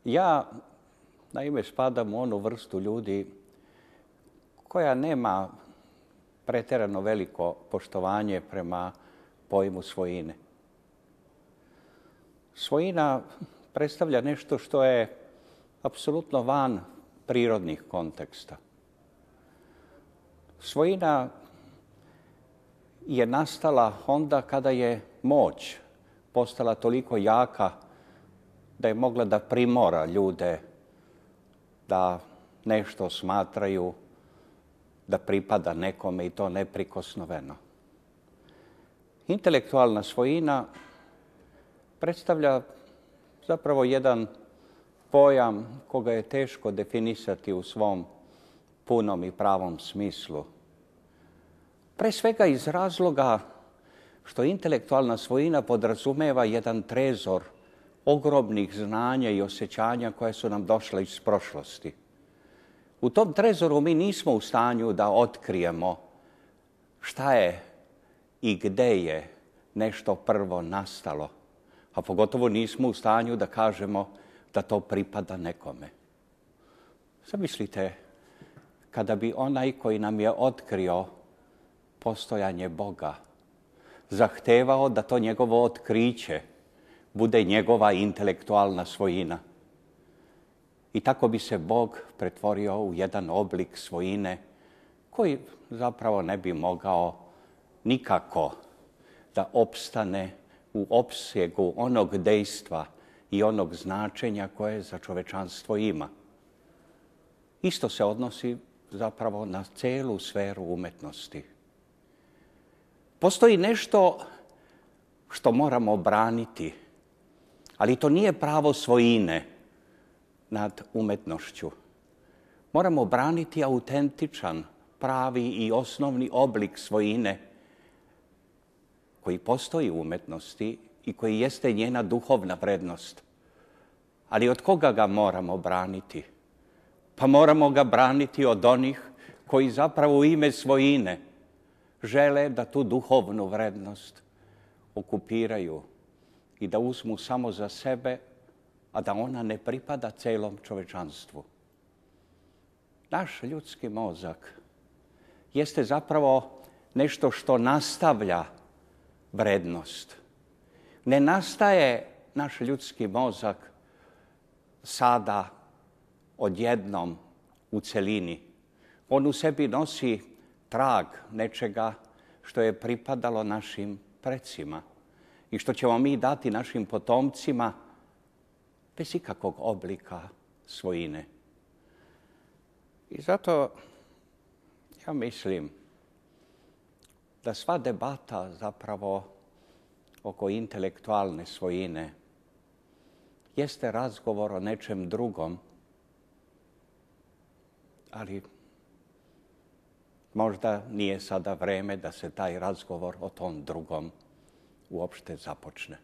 Ja, naime, spadam u onu vrstu ljudi koja nema pretjerano veliko poštovanje prema pojmu svojine. Svojina predstavlja nešto što je apsolutno van prirodnih konteksta. Svojina je nastala onda kada je moć postala toliko jaka da je mogla da primora ljude da nešto smatraju da pripada nekome i to neprikosnoveno. Intelektualna svojina predstavlja zapravo jedan pojam koga je teško definisati u svom punom i pravom smislu. Pre svega iz razloga što intelektualna svojina podrazumeva jedan trezor ogromnih znanja i osjećanja koje su nam došle iz prošlosti. U tom trezoru mi nismo u stanju da otkrijemo šta je i gde je nešto prvo nastalo, a pogotovo nismo u stanju da kažemo da to pripada nekome. Zamislite, kada bi onaj koji nam je otkrio postojanje Boga zahtevao da to njegovo otkriće bude njegova intelektualna svojina. I tako bi se Bog pretvorio u jedan oblik svojine koji zapravo ne bi mogao nikako da opstane u opsegu onog dejstva i onog značenja koje za čovečanstvo ima. Isto se odnosi zapravo na celu sferu umetnosti. Postoji nešto što moramo braniti, ali to nije pravo svojine nad umetnošću. Moramo braniti autentičan, pravi i osnovni oblik svojine koji postoji u umetnosti i koji jeste njena duhovna vrednost. Ali od koga ga moramo braniti? Pa moramo ga braniti od onih koji zapravo u ime svojine žele da tu duhovnu vrednost okupiraju i da uzmu samo za sebe, a da ona ne pripada celom čovečanstvu. Naš ljudski mozak jeste zapravo nešto što nastavlja vrednost. Ne nastaje naš ljudski mozak sada odjednom u celini. On u sebi nosi trag nečega što je pripadalo našim precima i što ćemo mi dati našim potomcima bez ikakvog oblika svojine. I zato ja mislim da sva debata zapravo oko intelektualne svojine jeste razgovor o nečem drugom, ali možda nije sada vreme da se taj razgovor o tom drugom uopšte započne.